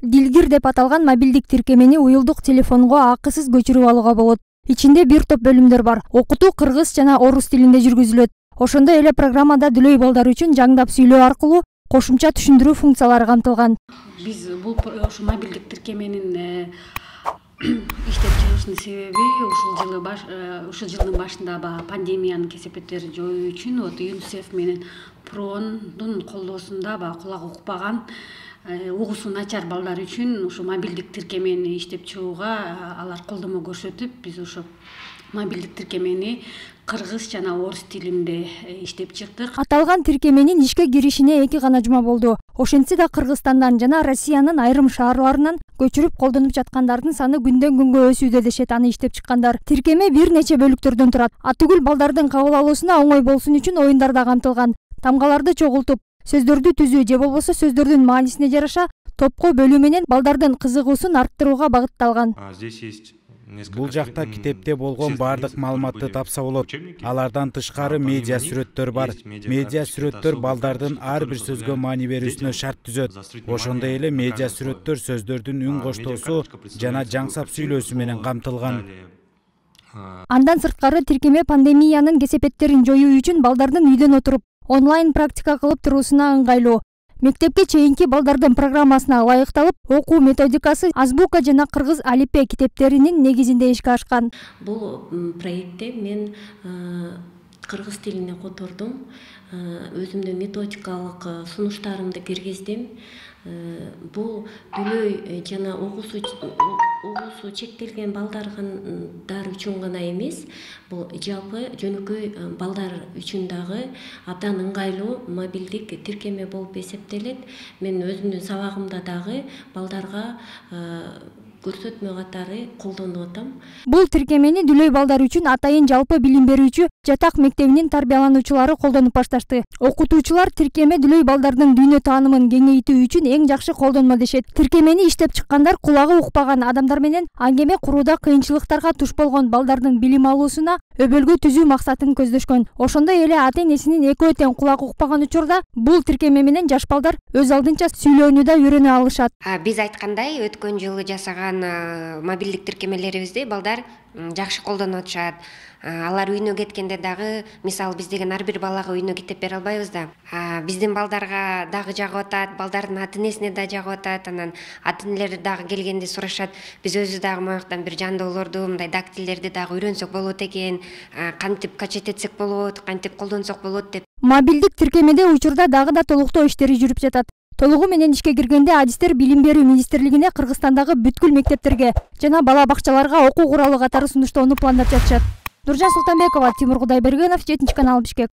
Дилгир деп аталган мобилдик тиркемени уюлдук телефонго акысыз көчүрүп алууга болот. Ичинде бир топ бөлүмдөр бар. Окутуу кыргыз жана орус тилинде жүргүзүлөт. Ошондой эле программада дүлөй балдар үчүн жаңдап сүйлөө аркылуу кошумча түшүндүрүү функциялары камтылган. Биз бул ушу мобилдик тиркеменин иштеп чыгышынын себеби ушул жылдын башында пандемиянын кесепеттерин жоюу үчүн ЮНИСЕФ менен ПРООндун колдоосунда кулак укпаган, угуусу начар балдар үчүн ушу мобилдик тиркемени иштеп чыгууга алар колдомо көрсөтүп, биз ушу мобилдик тиркемени кыргыз жана орус тилинде иштеп чыктык. Аталган тиркеменин ишке киришине 2 гана жума болду. Ошентсе да Кыргызстандан жана Россиянын айрым шаарларынан көчүрүп колдонуп жаткандардын саны күндөн күнгө өсүүдө дешет аны иштеп чыккандар. Тиркеме бир нече бөлүктөрдөн турат. Атүгүл балдардын кабыл алуусуна оңой болсун үчүн оюндар да камтылган. Тамгаларды чогултуп, сөздөрдү түзүү же болбосо сөздөрдүн маанисине жараша топко бөлүү менен балдардын кызыгуусун арттырууга багытталган. Бул жакта китепте болгон бардык маалыматты тапса болот. Алардан тышкары медиа сүрөттөр бар. Медиа сүрөттөр балдардын ар бир сөзгө маани берүүсүнө шарт түзөт. Ошондой эле медиа сүрөттөр сөздөрдүн үн коштоосу жана жаңсап сүйлөөсү менен камтылган. Андан сырткары тиркеме пандемиянын кесепеттерин жоюу үчүн балдардын үйдөн отуруп онлайн практика кылып туруусуна ыңгайлуу. Мектепке чейинки балдардын программасына ылайыкталып, окуу методикасы азбука жана кыргыз алипе китептеринин негизинде ишке ашкан. Бул проектте мен кыргыз тилине котордум, өзүмдүн методикалык сунуштарымды киргиздим. Бул дүлөй жана угуусу чектелген балдар үчүн гана эмес, бул жалпы жөнөкөй балдар үчүн дагы абдан ыңгайлуу мобилдик тиркеме болуп эсептелет. Мен өзүмдүн сабагымда дагы балдарга көрсөтмө катары колдонуп атам. Бул тиркемени дүлөй балдар үчүн атайын жалпы билим берүүчү жатак мектебинин тарбиялануучулары колдонуп башташты. Окутуучулар тиркеме дүлөй балдардын дүйнө таанымын кеңейтүү үчүн эң жакшы колдонмо дешет. Тиркемени иштеп чыккандар кулагы укпаган адамдар менен аңгеме курууда кыйынчылыктарга туш болгон балдардын билим алуусуна өбөлгө түзүү максатын көздөшкөн. Ошондой эле ата-энесинин экөө тең кулак укпаган учурда бул тиркеме менен жаш балдар өз алдынча сүйлөөнү да үйрөнө алышат. Биз айткандай, өткөн жылы жасаган мобилдик тиркемелерибизди балдар жакшы колдонуп атышат. Алар үйүнө кеткенде дагы, мисалы биз деген ар бир балага үйүнө китеп бере албайбыз да. Биздин балдарга дагы жагып атат, балдардын ата-энесине да жагып атат. Анан ата-энелер дагы келгенде сурашат, биз өзүбүз дагы мояктан бир жандоолорду, мындай дактилдерди дагы үйрөнсөк болот экен, кантип качет этсек болот, кантип колдонсок болот деп. Мобилдик тиркемеде учурда дагы да толуктоо иштери жүрүп жатат. Толугу менен ишке киргенде адистер Билим берүү министрлигине Кыргызстандагы бүткүл мектептерге жана бала бакчаларга окуу куралы катары сунуштоону пландап жатышат. Нуржан Султанбекова, Тимур Кудайбергенов, 7 канал, Бишкек.